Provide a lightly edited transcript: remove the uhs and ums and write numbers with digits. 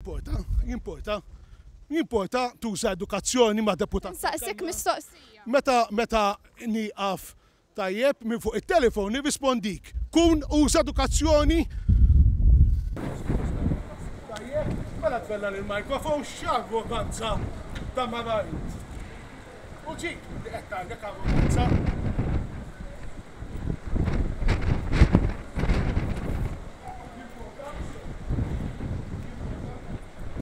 Jimporta, jimporta, jimporta tuża edukazzjoni ma' deputat. Nsaqsik mistoqsija. Meta meta nieqaf tajjeb minn fuq it-telefon nirrispondik. Kun uża edukazzjoni. Tajjeb, mela tbella l-mikrofon x'arroganza ta' mara int. U ġik li qed tgħidlek arroganza.